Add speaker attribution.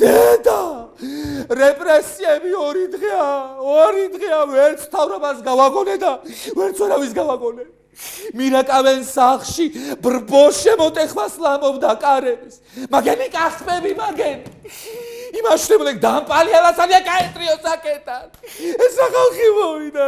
Speaker 1: დედა რეპრესიები 2 დღეა ვერც თავრობას გავაგონე და ვერც ვერავის გავაგონე მირაკავენ სახლში ბრბო შემოტეხვას ლამობდა კარების მაგენი კახტები მაგენი იმაშნებოდნენ დამპალიალას ალია კაეტრიო საკეთან ეს რა ხალხი მოვიდა